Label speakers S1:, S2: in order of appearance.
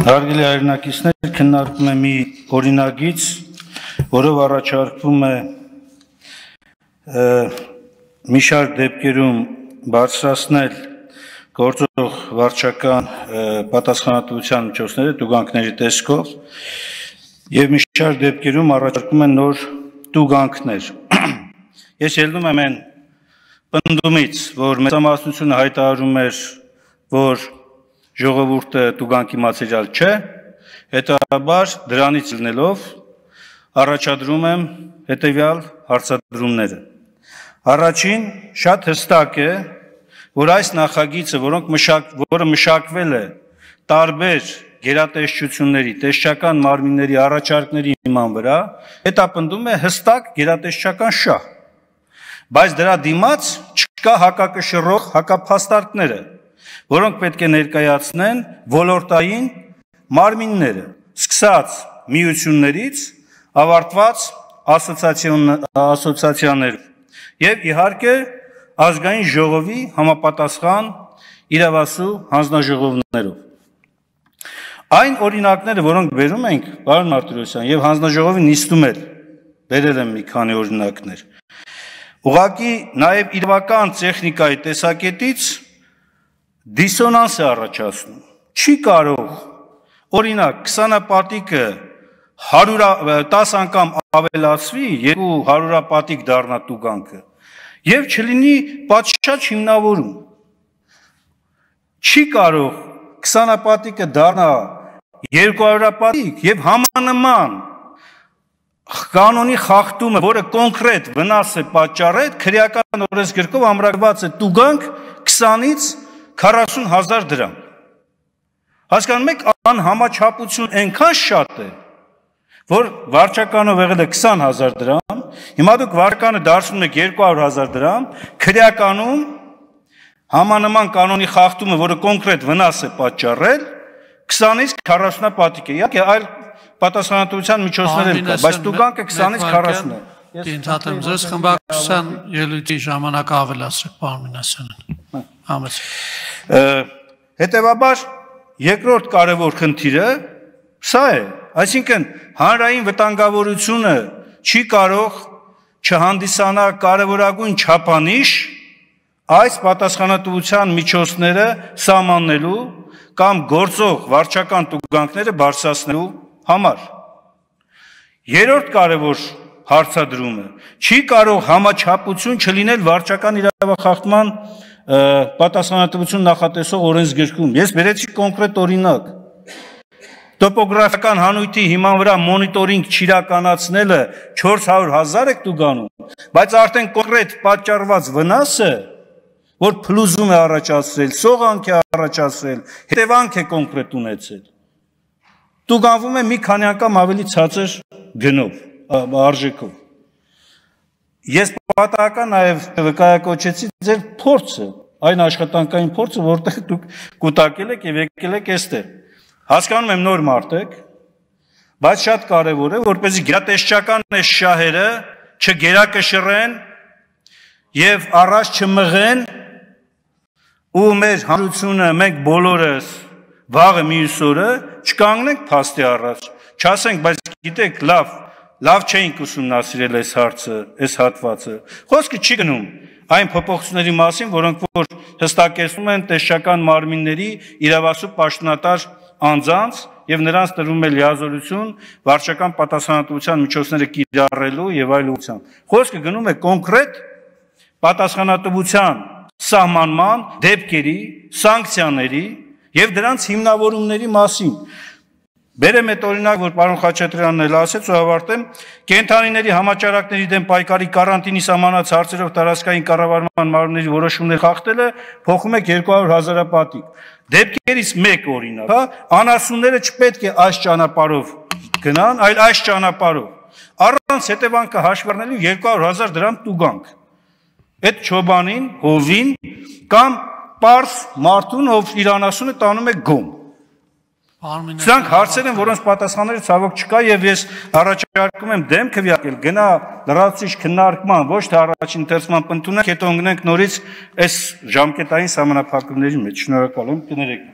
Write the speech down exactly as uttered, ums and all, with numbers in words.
S1: Հարգելի հայրենակիցներ, քննարկում է մի օրինագիծ, որով առաջարկվում է մի շարք դեպքերում բարձրացնել գործող վարչական պատասխանատվության միջոցները տուգանքների տեսքով եւ մի շարք դեպքերում առաջարկում են նոր տուգանքներ։ Ես ելնում եմ այն պնդումից, որ մեծամասնությունը հայտարարում էր, որ ժողովուրդը տուգանքի մատերիալ չէ, հետաբար դրանից ելնելով առաջադրում եմ հետևյալ հարցադրումները։ Առաջին շատ հստակ է, որ այս նախագիծը, որոնք մշակ, որը մշակվել է տարբեր գերատեսչությունների, տեսչական մարմինների առաջարկների հիման վրա, հետապնդում է հստակ գերատեսչական շահ, բայց դրա դիմաց չկա հակակշռող հակափաստարկները, որոնք պետք է ներկայացնեն ոլորտային մարմինները, սկսած միություններից, ավարտված ասոցիացիաներ եւ իհարկե ազգային ժողովի համապատասխան իրավասու հանձնաժողովներով։ Այն օրինակները, որոնք բերում ենք, պարոն Մարտիրոսյան, եւ հանձնաժողովի նիստում էլ բերել եմ մի քանի օրինակներ, ուղղակի նաեւ իրավական տեխնիկայի տեսակետից դիսոնանս է առաջացնում։ Չի կարող, օրինակ, քսանապատիկը տասը անգամ ավելացվի, երկու հարյուրապատիկ դառնա տուգանքը, եւ չլինի պատշաճ հիմնավորում։ Չի կարող քսանապատիկը դառնա երկուհարյուրապատիկ եւ համանման կանոնի խախտումը, որը կոնկրետ վնաս է պատճառել, քրեական օրենսգրքով ամրագրված է տուգանք քսանից քառասուն հազար դրամ։ Հասկանում եք, անհամաչափություն այնքան շատ է, որ վարչականով եղել է քսան հազար դրամ, հիմա դուք վարչականը դարձնում եք երկու հարյուր հազար դրամ, քրեականում համանման կանոնի խախտումը, որը կոնկրետ վնաս է պատճառել, քսանից քառասունապատիկ է, իհարկե այլ պատասխանատվության միջոցներ են կա, բայց տուգանքը քսանից քառասուն է։
S2: Ընդհատեմ ձեզ խմբակցության ելույթի ժամանակը ավելացրեք, պարոն Մինասյանն։ Համեցեք։
S1: Հետևաբար երկրորդ կարևոր խնդիրը սա է, այսինքն հանրային վտանգավորությունը չի կարող չհանդիսանա կարևորագույն չափանիշ այս պատասխանատվության միջոցները սահմանելու կամ գործող վարչական տուգանքները բարձրացնելու համար։ Երրորդ կարևոր հարցադրումը չի կարող համաչափություն չլինել վարչական իրավախախտման պատասխանատվություն նախատեսող օրենսգրքում։ Ես բերեցի կոնկրետ օրինակ։ Տոպոգրաֆիական հանույթի հիման վրա մոնիտորինգ չիրականացնելը չորս հարյուր հազար եք տուգանում, բայց արդեն կոնկրետ պատճառված վնասը, որ փլուզում է առաջացրել, սողանք է առաջացրել, հետևանք է կոնկրետ ունեցել, տուգանվում է մի քանի անգամ ավելի ցածր գնով, արժեքով։ Ես պատահական նաև վկայակոչեցի ձեր փորձը, այն աշխատանքային փորձը, որտեղ դուք կուտակել եք եւ եկել եք այստեղ։ Հասկանում եմ նոր մարդ եք, բայց շատ կարևոր է, որպեսզի գերատեսչական այս շահերը չգերակշռեն եւ առաջ չմղեն ու մեր հանրությունը, մենք բոլորս վաղը մյուս օրը չկանգնենք փաստի առաջ, չասենք, բայց գիտեք, լավ Լավ չէինք ուսումնասիրել այս հարցը, այս հատվածը։ Խոսքը չի գնում այն փոփոխությունների մասին, որոնք որ հստակեցնում են տեսչական մարմինների իրավասու պաշտոնատար անձանց եւ նրանց տրվում է լիազորություն վարչական պատասխանատվության միջոցները կիրառելու եւ այլ ուղղությամբ։ Խոսքը գնում է կոնկրետ պատասխանատվության սահմանման, դեպքերի, սանկցիաների եւ դրանց հիմնավորումների մասին։ Բերեմ այդ օրինակ, որ պարոն Խաչատրյանն էլ ասեց ու ավարտեմ, կենդանիների համաճարակների դեմ պայքարի կարանտինի սահմանած հարցերով տարածքային կառավարման մարմինների որոշումներ խախտելը փոխում է երկու հարյուր հազարապատիկ։ Դեպքերից մեկ օրինակ, հա, անասունները չպետք է այս ճանապարհով գնան, այլ այս ճանապարհով։ Առանց հետևանքը հաշվի առնելու երկու հարյուր հազար դրամ տուգանք։ Այդ չոբանին, հովին կամ պարզ մարդուն, ով իր անասունը տանում է գոմ։ Սրանք հարցեր են, որոնց պատասխանները ցավոք չկա եւ ես առաջարկում եմ դեմ քվեարկել, գնա լրացուցիչ քննարկման, ոչ թե առաջին ընթերցման ընդունենք, հետո ընկնենք նորից այս ժամկետային սահմանափակումների մեջ։ Շնորհակալ եմ, կներեք։